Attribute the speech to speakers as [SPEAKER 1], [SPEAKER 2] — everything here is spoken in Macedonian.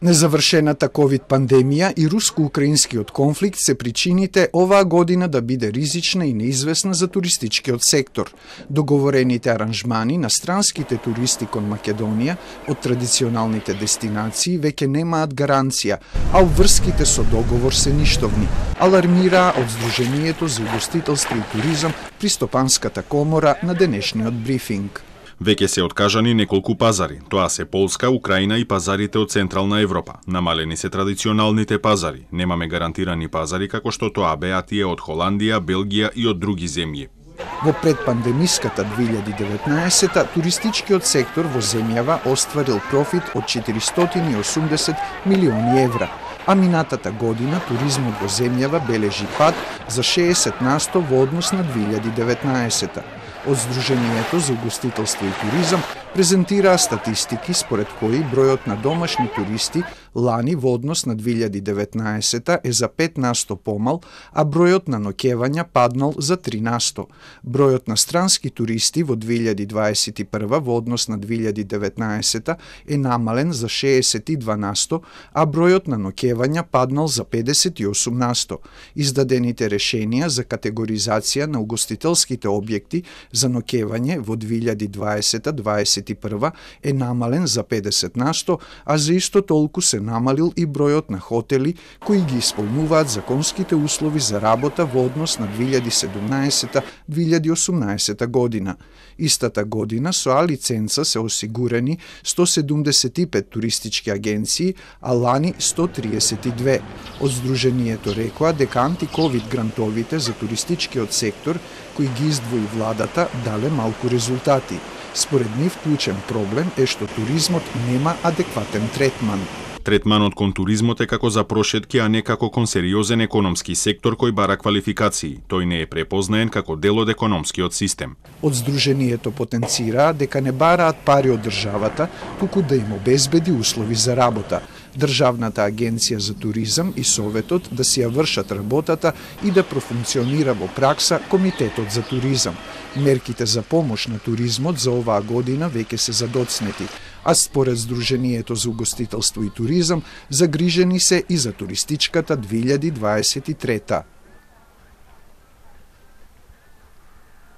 [SPEAKER 1] Незавршената ковид пандемија и руско-украинскиот конфликт се причините оваа година да биде ризична и неизвестна за туристичкиот сектор. Договорените аранжмани на странските туристи кон Македонија од традиционалните дестинации веќе немаат гаранција, а обврските со договор се ништовни, алармираа од Сдруженијето за угостителство и туризам при Стопанската комора на денешниот брифинг.
[SPEAKER 2] Веќе се откажани неколку пазари, тоа се Полска, Украина и пазарите од Централна Европа. Намалени се традиционалните пазари, немаме гарантирани пазари како што тоа беа тие од Холандија, Белгија и од други земји.
[SPEAKER 1] Во предпандемиската 2019 туристичкиот сектор во земјава остварил профит од 480 милиони евра, а минатата година туризмот во земјава бележи пад за 60% во однос на 2019. Од Сдруженијето за угостителство и туризам презентираа статистики според кои бројот на домашни туристи лани во однос на 2019 е за 5% помал, а бројот на ноќевања паднал за 3%. Бројот на странски туристи во 2021 во однос на 2019 е намален за 62%, а бројот на ноќевања паднал за 58%. Издадените решенија за категоризација на угостителските објекти за ноќевање во 2020-2021 е намален за 50%, а за исто толку се намалил и бројот на хотели кои ги исполнуваат законските услови за работа во однос на 2017-2018 година. Истата година со А лиценца се осигурени 175 туристички агенции, а лани 132. Од Сдруженијето рекоа дека антиковид грантовите за туристичкиот сектор кои ги издвои владата дале малку резултати. Според нив клучен проблем е што туризмот нема адекватен третман.
[SPEAKER 2] Третманот кон туризмот е како за прошетки, а не како кон сериозен економски сектор кој бара квалификации. Тој не е препознаен како дел од економскиот систем.
[SPEAKER 1] Од Сдруженијето потенцираа дека не бараат пари од државата, туку да им обезбеди услови за работа. Државната агенција за туризам и Советот да си ја вршат работата и да профункционира во пракса Комитетот за туризам. Мерките за помош на туризмот за оваа година веќе се задоцнети, а според Сдруженијето за угостителство и туризам загрижени се и за туристичката 2023.